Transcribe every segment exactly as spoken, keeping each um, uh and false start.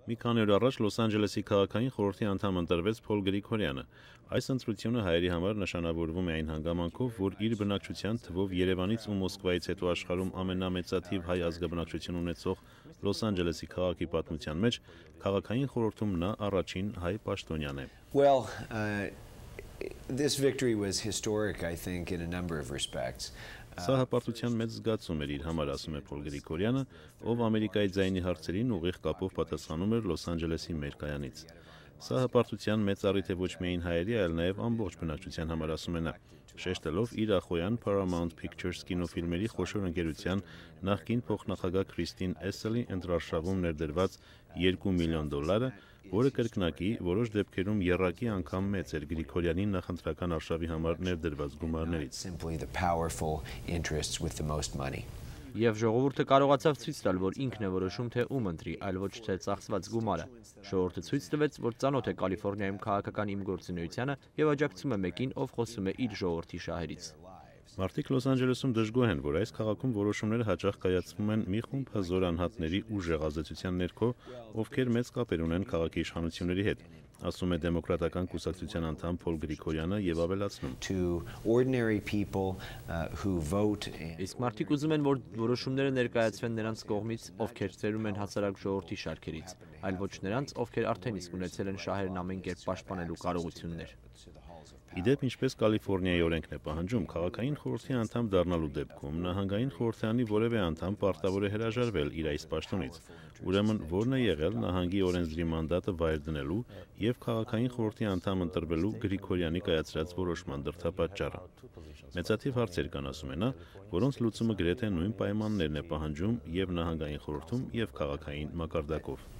Մի քանի օր առաջ Լոս Անջելեսի քաղաքային խորհրդի անդամ ընտրվեց Փոլ Գրիգորյանը։ Այս ընտրությունը հայերի համար նշանավորվում է այն հանգամանքով, որ իր բնակչության թվով Երևանից ու Մոսկվայից հետո աշխարհում ամենամեծաթիվ հայ ազգաբնակչություն ունեցող Լոս Անջելեսի քաղաքի պատմության մեջ քաղաքային խորհրդում նա առաջին հայ պաշտոնյան է։ Well, uh, this victory was historic, I think, in a number of respects. Սա հպարտության մեծ զգացում էր իր համար, ասում է Փոլ Գրիգորյանը, ով Ամերիկայի ձայնի հարցերին ուղիղ կապով պատասխանում էր Լոս Անջելեսի մեր կայանից։ Սա հպարտության մեծ առիթ է ոչ միայն հայերի, այլ նաև ամբողջ բնակչության համար, ասում է նա, շեշտելով իր ախոյան Paramount Pictures կինոֆիլմերի խոշոր ընկերության նախկին փոխնախագահ Քրիստին Էսսելի ընտրարշավում ներդրված երկու միլիոն դոլարը, որը կրկնակի որոշ դեպքերում եռակի անգամ մեծ էր Գրիգորյանի նախընտրական արշավի համար ներդրված գումարներից։ Եվ ժողովուրդը կարողացավ ցույց տալ, որ ինքն է որոշում, թե ում ընտրի, այլ ոչ թե ծախսված գումարը։ Ժողովուրդը ցույց տվեց, որ ծանոթ է Կալիֆոռնիայում քաղաքական իմ գործունեությանը եւ աջակցում է մեկին, ով խոսում է իր ժողովրդի շահերից։ Մարդիկ Լոս Անջելեսում դժգոհ են, որ այս քաղաքում որոշումները հաճախ կայացվում են մի խումբ հզոր անհատների ուժեղ ազդեցության ներքո, ովքեր մեծ կապեր ունեն քաղաքի իշխանությունների հետ, ասում է դեմոկրատական կուսակցության անդամ Փոլ Գրիգորյանը եւ ավելացնում. Իսկ մարդիկ ուզում են, որ որոշումները ներկայացվեն նրանց կողմից, ովքեր ծերում են հասարակ ժողովրդի շարքերից, այլ ոչ նրանց, ովքեր արդեն իսկ ունեցել են շահերն ամեն կերպ պաշտպանելու կարողություններ։ Իդեպ, ինչպես Կալիֆոռնիայի օրենքն է պահանջում, քաղաքային խորհրդի անդամ դառնալու դեպքում նահանգային խորհրդարանի որևէ անդամ պարտավոր է հրաժարվել իր այս պաշտոնից։ Ուրեմն, որն է եղել նահանգի օրենսդրի մանդատը վայր դնելու եւ քաղաքային խորհրդի անդամ ընտրվելու Գրիգորյանի կայացրած որոշման դրդապատճառը։ Մեծաթիվ հարցեր կան, ասում է նա, որոնց լուծումը գրեթե նույն պայմաններն է պահանջում եւ նահանգային խորհրդում եւ քաղաքային մակարդակով։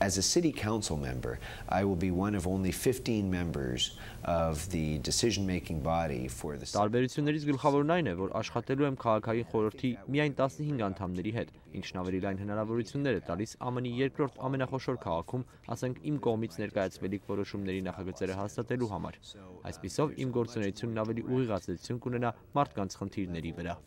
As a city council member, I will be one of only fifteen members of the decision-making body for the. Տարբերություններից գլխավորն այն է, որ աշխատելու եմ քաղաքային խորհրդի միայն տասնհինգ անդամների հետ, ինչն ավելի լայն հնարավորություններ է տալիս ԱՄՆ-ի երկրորդ ամենախոշոր քաղաքում, ասենք իմ կողմից ներկայացվելիք որոշումների նախագծերը հաստատելու համար։ Այսպիսով, իմ գործունեությունն ավելի ուղիղ ազդեցություն կունենա մարդկանց խնդիրների վրա։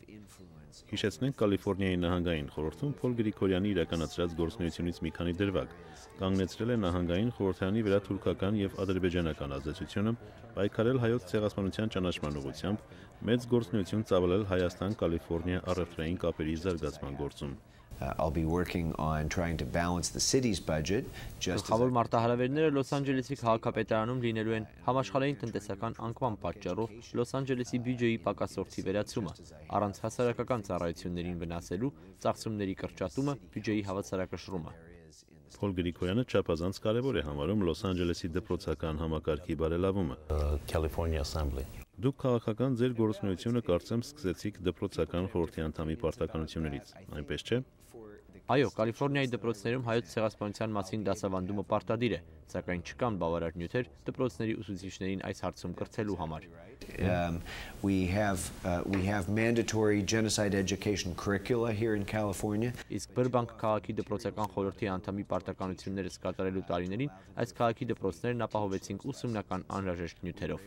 Հիշեցնենք Կալիֆոռնիայի նահանգային խորհրդում Փոլ Գրիգորյանի իրականացրած գործունեությունից մի քանի դրվագ, կանգնեցրել է նահանգային խորհրդարանի վրա թուրքական եւ ադրբեջանական ազդեցությունը, պայքարել հայոց ցեղասպանության ճանաչման ուղղությամբ, մեծ գործունեություն ծավալել Հայաստան-Կալիֆոռնիա առևտրային կապերի զարգացման գործում։ Uh, I'll be working on trying to balance the city's budget. Գլխավոր մարտահրավերները Լոս Անջելեսի քաղաքապետարանում լինելու են համաշխարհային տնտեսական անկման պատճառով Լոս Անջելեսի բյուջեի պակասորդի վերացումը, առանց հասարակական ծառայություններին վնասելու ծախսումների կրճատումը, բյուջեի հավասարակշռումը։ Փոլ Գրիգորյանը չափազանց կարևոր է համարում Լոս Անջելեսի դպրոցական համակարգի բարելավումը։ California Assembly. Դուք քաղաքական ձեր գործունեությունը կարծեմ սկսեցիք դպրոցական խորհրդի անդամի պարտականություններից, այնպես չէ՞։ Այո, Կալիֆոռնիայի դպրոցներում հայոց ցեղասպանության մասին դասավանդումը պարտադիր է, սակայն չկան բավարար նյութեր դպրոցների ուսուցիչներին այս հարցում կրթելու համար։ Um, we have uh, we have mandatory genocide education curricula here in California. Իսկ Բրբանկ քաղաքի դպրոցական խորհրդի անդամի պարտականությունները կատարելու տարիներին այս քաղաքի դպրոցներն ապահովեցին ուսումնական անհրաժեշտ նյութերով։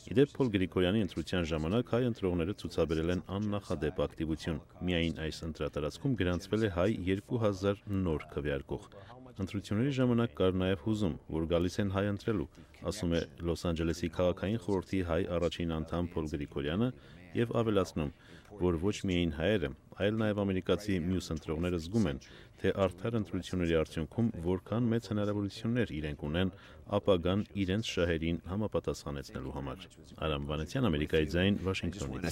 Իդեպ Փոլ Գրիգորյանի ընտրության ժամանակ հայ ընտրողները ցուցաբերել են աննախադեպ ակտիվություն։ Միայն այս ընտրատարածքում գրանցվել է հայ երկու հազար նոր քվեարկող։ Ընտրությունների ժամանակ կար նաև հուզում, որ գալիս են հայ ընտրելու, ասում է Լոս Անջելեսի քաղաքային խորհրդի հայ առաջին անդամ Փոլ Գրիգորյանը եւ ավելացնում, որ ոչ միայն հայերը, այլ նաև ամերիկացի մյուս ընտրողները զգում են, թե արդար ընտրությունների արդյունքում որքան մեծ հնարավորություններ իրենք ունեն ապագան իրենց շահերին համապատասխանեցնելու համար։ Արամ Վանեցյան, Ամերիկայի ձայն, Վաշինգտոնից։